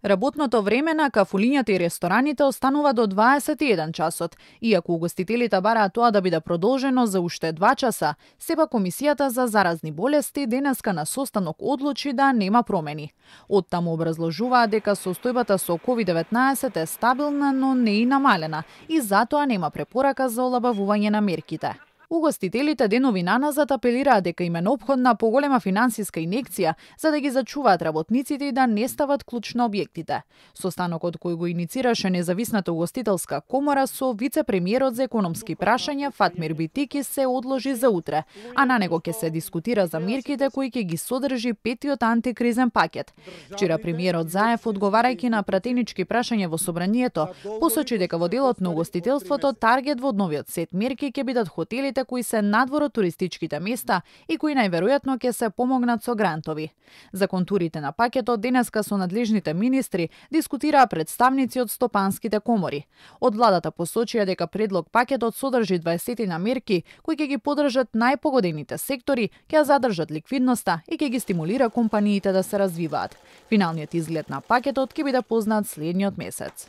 Работното време на кафулињата и рестораните останува до 21 часот, иако угостителите бараат тоа да биде продолжено за уште 2 часа. Сепак Комисијата за заразни болести денеска на состанок одлучи да нема промени. Оттаму образложуваат дека состојбата со COVID-19 е стабилна, но не и намалена, и затоа нема препорака за олабавување на мерките. Угостителите денови наназад апелираат дека им е неопходна поголема финансиска инекција за да ги зачуваат работниците и да не стават клуч на објектите. Состанокот кој го иницираше Независната угостителска комора со вице-премиерот за економски прашања Фатмир Битики се одложи за утре, а на него ќе се дискутира за мерките кои ќе ги содржи петиот антикризен пакет. Вчера премиерот Заев, одговарајќи на пратенички прашања во собранието, посочи дека во делот на угостителството таргет во новиот сет мерки ќе бидат хотелите кои се надвор од туристичките места и кои најверојатно ќе се помогнат со грантови. За контурите на пакетот денеска со надлежните министри дискутираа представници од стопанските комори. Од владата посочија дека предлог пакетот содржи 20 на мерки кои ќе ги поддржат најпогодените сектори, ќе задржат ликвидноста и ќе ги стимулира компаниите да се развиваат. Финалниот изглед на пакетот ќе биде познат следниот месец.